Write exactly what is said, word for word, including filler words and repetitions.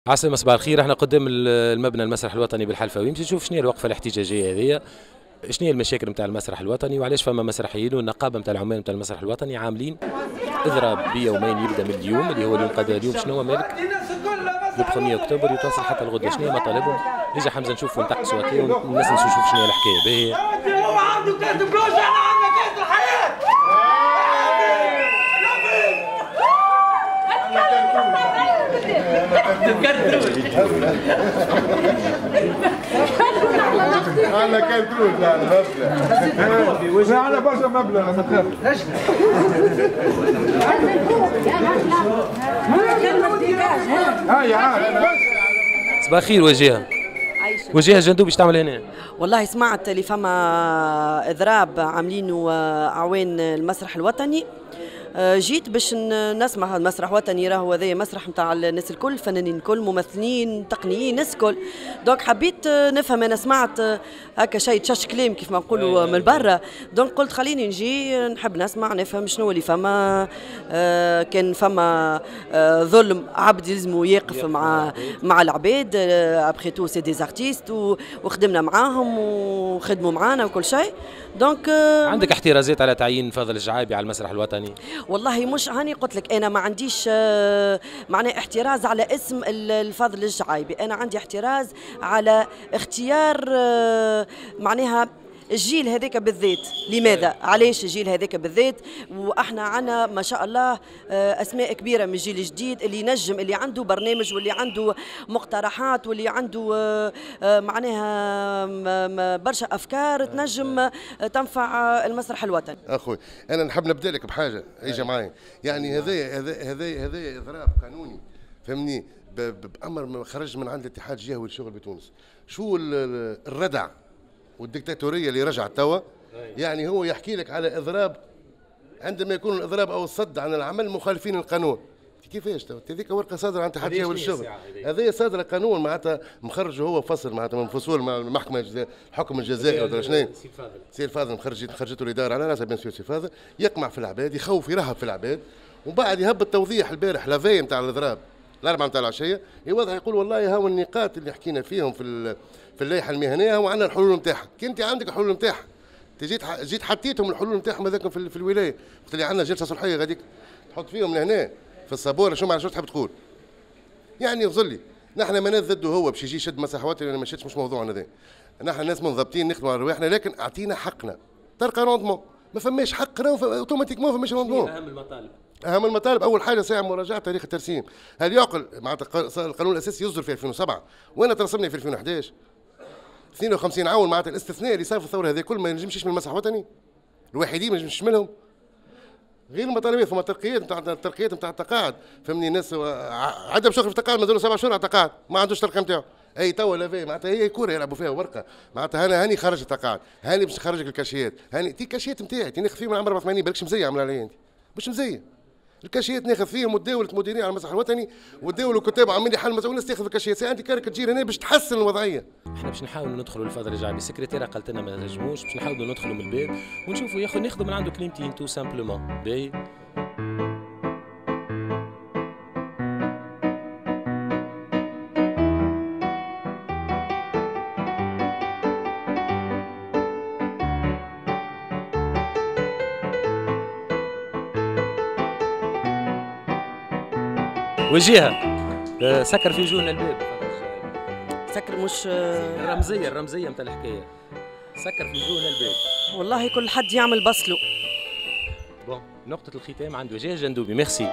عسلامة، صباح الخير. احنا قدام المبنى المسرح الوطني بالحلفاوي باش نشوف شنو هي الوقفة الاحتجاجية هذه، شنو هي المشاكل نتاع المسرح الوطني وعلاش فما مسرحيين والنقابه نتاع العمال نتاع المسرح الوطني عاملين اضراب بيومين يبدا من اليوم اللي هو اليوم قد اليوم شنو هو مالك le واحد اكتوبر يتواصل حتى الغد. شنو هي مطالبهم؟ اجا حمزة نشوفوا نتقصوا هكا والناس نشوف شنو هي الحكاية. باهي هو عنده كاس بلوش، احنا عندنا كاس الحياة. عندنا كنترول لا مبلغ، عندنا برشا مبلغ ما تخافش. صباح الخير وجيهة. وجيهة جندوبي باش تعمل هنا؟ والله سمعت اللي فما اضراب عاملينه اعوان المسرح الوطني، جيت باش نسمع. المسرح الوطني راهو هذايا مسرح نتاع الناس الكل، فنانين الكل، ممثلين، تقنيين، الناس الكل. donc حبيت نفهم، انا سمعت هكا شيء تشاش كلام كيف ما نقولوا من برا، donc قلت خليني نجي نحب نسمع نفهم شنو اللي فما. كان فما ظلم، عبد يلزمو يقف مع مع العباد، après tout c'est des artistes وخدمنا معاهم وخدموا معانا وكل شيء. donc عندك احترازات على تعيين فاضل الجعايبي على المسرح الوطني؟ والله مش هاني قلت لك انا ما عنديش معناه احتراز على اسم الفاضل الجعايبي، انا عندي احتراز على اختيار معناها الجيل هذاك بالذات. لماذا؟ علاش الجيل هذاك بالذات؟ واحنا عنا ما شاء الله اسماء كبيرة من الجيل الجديد اللي ينجم، اللي عنده برنامج واللي عنده مقترحات واللي عنده معناها برشا افكار تنجم تنفع المسرح الوطني. اخوي انا نحب نبدا لك بحاجة، اجا معايا. يعني هذا هذا هذا هذا اضراب قانوني، فهمني، بامر خرج من عند الاتحاد الجهوي للشغل بتونس. شو الردع والدكتاتوريه اللي رجعت توا؟ يعني هو يحكي لك على اضراب عندما يكون الاضراب او الصد عن العمل مخالفين القانون. كيفاش توا؟ هذيك ورقة صادرة عن اتحاد الجهوي للشغل، هذه صادرة قانون معناتها مخرجه هو فصل معناتها من فصول مع المحكمة الحكم الجزائي ولا شنو؟ سي فاضل، سي الفاضل مخرج خرجته الادارة على راسها bien sûr. سي فاضل يقمع في العباد، يخوف، يرهب في العباد، ومن بعد يهبط توضيح البارح la veille نتاع الاضراب الأربعة نتاع العشية، يوضح يقول والله هاو النقاط اللي حكينا فيهم في في اللائحة المهنية وعندنا الحلول نتاعها. كي أنت عندك الحلول نتاعها، جيت جيت حطيتهم الحلول نتاعهم هذاك في, في الولاية، قلت لي عندنا جلسة صلحية غاديك تحط فيهم لهنا في الصابورة، شو معنى شو تحب تقول؟ يعني يغزل لي نحن ما ضده هو باش يجي يشد مسرح وطني ولا ما يشدش، مش موضوعنا هذا. نحن ناس منضبطين نخدموا على رواحنا، لكن أعطينا حقنا. تلقى rendement، ما فماش حق راهو automatiquement فماش rendement. أهم المطالب؟ اهم المطالب اول حاجة ساعة مراجعه تاريخ الترسيم. هل يعقل معناتها القانون الاساسي يصدر في ألفين وسبعة وانا ترسمني في ألفين وأحد عشر؟ اثنين وخمسين عون معناتها الاستثناء اللي صار في الثورة هذه كل ما ينجمش يشمل المسرح الوطني، الوحيدين ما ينجمش يشملهم. غير المطالبات فما ترقيات نتاع الترقيات نتاع التقاعد، فهمني، الناس عندها شغل في التقاعد مازالوا سبع شهور على التقاعد ما عندوش الترقية نتاعو. اي توا la veille معناتها هي كورة يلعبوا فيها ورقة، معناتها انا هاني خرج التقاعد، هاني باش نخرجك الكاشيات، هاني تي الكاشيات نتاعي تي ناخذ فيهم من عام أربعة وثمانين، بالكش مزية عامله عليا انت، مش مزية. الكاشيات ناخذ فيهم وتداولت مديرين على المسرح الوطني وتداولوا كتاب عاملين حل مسؤول الناس تاخذ الكاشيات. عندي كارك تجير هنا باش تحسن الوضعية. احنا باش نحاولوا ندخلوا للفاضل الجعبي، السكرتيره قالت لنا ما نجموش، باش نحاولوا ندخلوا من الباب ونشوفوا ياخذ ناخذوا من عنده كلمتين tout simplement. باهي وجيهة سكر في وجوهنا الباب. سكر مش الرمزية، الرمزية نتاع الحكاية، سكر في وجوهنا الباب. والله كل حد يعمل بصله. bon نقطة الختام عند وجيهة جندوبي. ميرسي.